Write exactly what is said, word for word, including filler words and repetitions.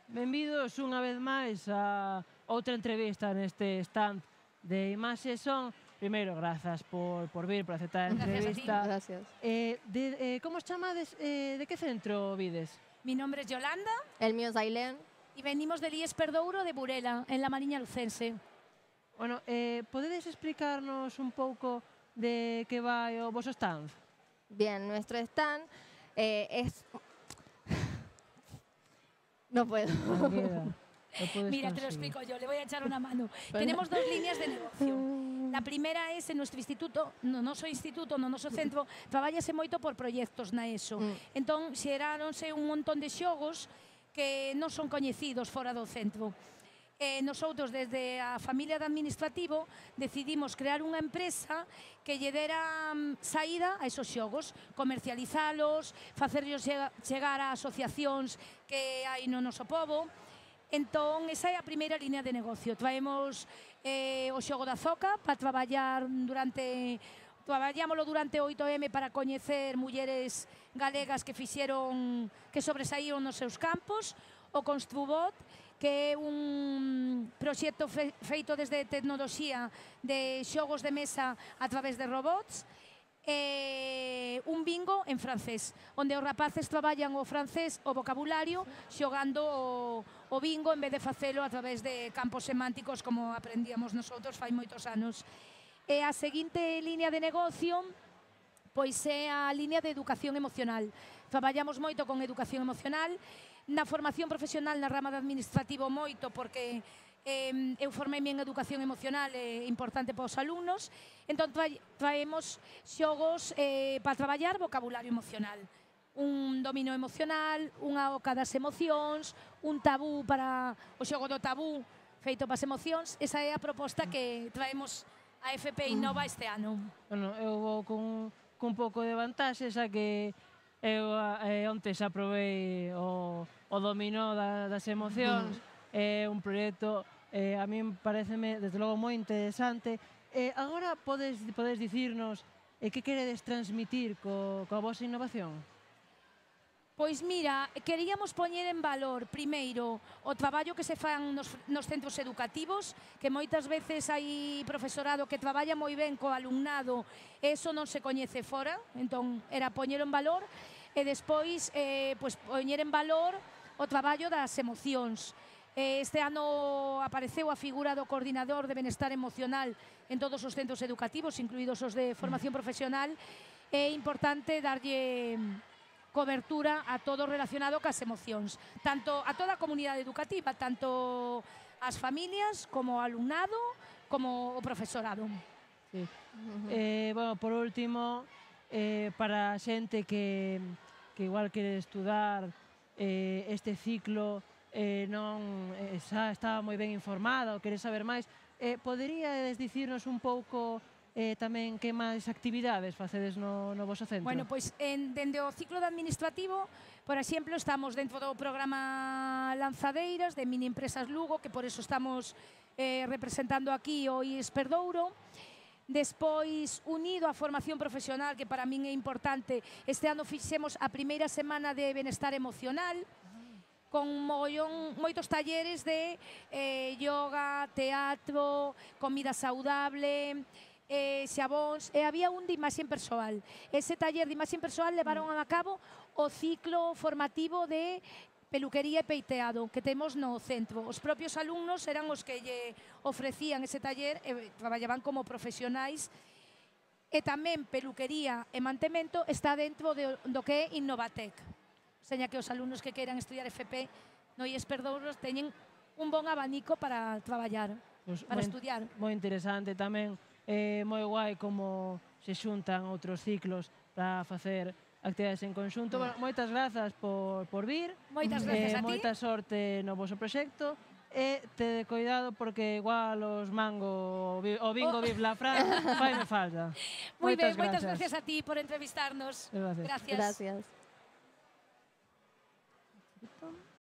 Benvidos unha vez máis a outra entrevista neste stand de Imaxe Son. Primeiro, grazas por, por vir, por aceptar a entrevista. Gracias. Eh, de, eh, como os chamades? Eh, de que centro vides? Mi nombre es Yolanda. El mío es Ailén. Y venimos del I E S Perdouro de Burela, en la Mariña Lucense. Bueno, eh, podedes explicarnos un pouco de que vai o voso stand? Bien, nuestro stand eh, es... No puedo. No queda. Lo Mira, te lo conseguir. explico yo, le voy a echar una mano. Tenemos dos líneas de negocio. La primeira es en nuestro instituto, no noso instituto, no noso centro, traballase moito por proxectos na ESO. Mm. Entón, xeráronse un montón de xogos que non son coñecidos fora do centro. Eh, nosotros, desde a familia de administrativo, decidimos crear unha empresa que lle dera mm, saída a esos xogos, comercializalos, facerlos chegar a asociacións que hai no noso pobo. Entón, esa é a primeira línea de negocio. Traemos eh, o xogo da Zoca para traballar durante... Traballámoslo durante oito eme para coñecer mulleres galegas que fixeron, que sobresaíron nos seus campos, o Construbot, que é un proxecto fe, feito desde tecnoloxía de xogos de mesa a través de robots, e un bingo en francés, onde os rapaces traballan o francés, o vocabulario, xogando o, o bingo en vez de facelo a través de campos semánticos como aprendíamos nosotros fai moitos anos. E a seguinte línea de negocio pois é a línea de educación emocional. Traballamos moito con educación emocional, na formación profesional na rama de administrativo moito, porque eh, eu formei-me en educación emocional, é eh, importante para os alumnos. Entón traemos xogos eh, para traballar vocabulario emocional. Un dominio emocional, unha oca das emocións, un tabú para o xogo do tabú feito para as emocións. Esa é a proposta que traemos a F P Innova este ano. Bueno, eu vou con, con un pouco de vantaxe, xa que eu eh, onte xa probei o, o dominó da, das emocións. É un proxecto, eh, a min pareceme, desde logo, moi interesante. Eh, agora podes, podes dicirnos eh, que queredes transmitir co, coa vosa innovación? Pois mira, queríamos poñer en valor, primeiro, o traballo que se fan nos, nos centros educativos, que moitas veces hai profesorado que traballa moi ben co alumnado, eso non se coñece fora, entón era poñer en valor, e despois eh, pois, poñer en valor o traballo das emocións. Este ano apareceu a figura do coordinador de benestar emocional en todos os centros educativos, incluídos os de formación profesional. É importante darlle cobertura a todo relacionado cas emocións, tanto a toda a comunidade educativa, tanto as familias, como o alumnado, como o profesorado. Sí. Eh, bueno, por último, eh, para a xente que, que igual quere estudar eh, este ciclo, eh, non eh, xa está moi ben informada ou quere saber máis, eh, poderíades dicirnos un pouco eh, tamén que máis actividades facedes no, no voso centro? Bueno, pois en, dende o ciclo de administrativo, por exemplo, estamos dentro do programa Lanzadeiras de Mini Empresas Lugo, que por eso estamos eh, representando aquí o I E S Perdouro. Despois, unido á formación profesional, que para min é importante, este ano fixemos a primeira semana de benestar emocional, con mollón, moitos talleres de eh, yoga, teatro, comida saudable, eh, xabóns, e había un de imaxe persoal. Ese taller de imaxe persoal levaron a cabo o ciclo formativo de peluquería e peiteado que temos no centro. Os propios alumnos eran os que lle ofrecían ese taller e traballaban como profesionais. E tamén peluquería e mantemento está dentro de, do que é Innovatec. Seña que os alumnos que queiran estudiar F P no I E S Perdouro teñen un bon abanico para traballar, Pues para moi, estudiar. Moi interesante tamén, eh, moi guai como se xuntan outros ciclos para facer actividades en conxunto. Bueno, moitas grazas por, por vir. Moitas gracias eh, a ti. Moita sorte no voso proxecto. E te cuidado porque igual os mango o bingo Oh. Vive la Fran fai me falta. Moi ben, Moitas moitas grazas. gracias a ti por entrevistarnos. Gracias. Gracias. Gracias.